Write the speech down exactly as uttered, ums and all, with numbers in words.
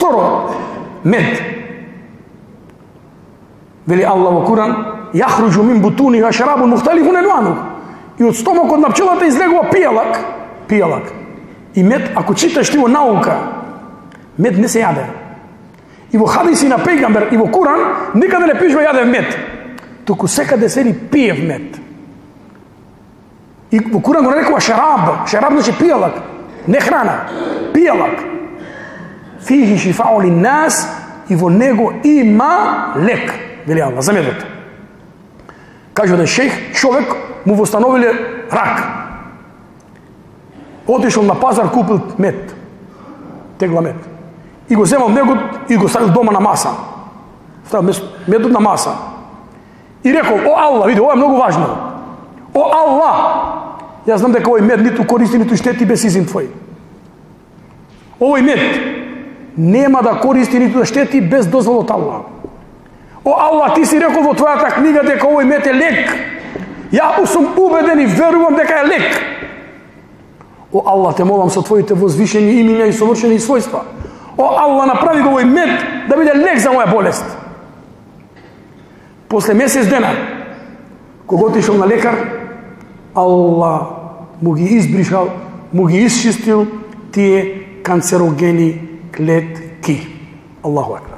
Второ, мед. Вели Аллах во Куран: "Јахруџу мин бутуниха шарабун мухталифун алвану." И од стомакот на пчелата излегува пијалак, пијалак. И мед, ако читаш ти во наука, мед не се јаде. И во хадиси на пејгамбер и во Куран никаде не пишува јадев мед. Туку секаде се пиев мед. И во Куран го нарекува шараб. Шараб значи пијалак, не храна, пијалак. Фихи шифау линнас, и во него има лек, вели Аллах, за медот. Кажува да шејх, човек му востановиле рак. Отишол на пазар, купил мед, тегла мед. И го земал негот и го ставил дома на маса. Ставил медот на маса. И рекол: "О Аллах, види, ова е многу важно. О Аллах, јас знам дека овој мед ниту користи, ниту штети без изин твој. Овој мед нема да користи, ниту да штети без дозвол од Аллах. О Аллах, ти си рекол во твојата книга дека овој мед е лек. Ја сум убеден и верувам дека е лек. О Аллах, те молам со твоите возвишени имиња и совршени својства. О Аллах, направи го овој мед да биде лек за моја болест." После месец дена, кога отишол на лекар, Аллах му ги избришал, му ги исчистил тие канцерогени клетки. Аллаху акбар.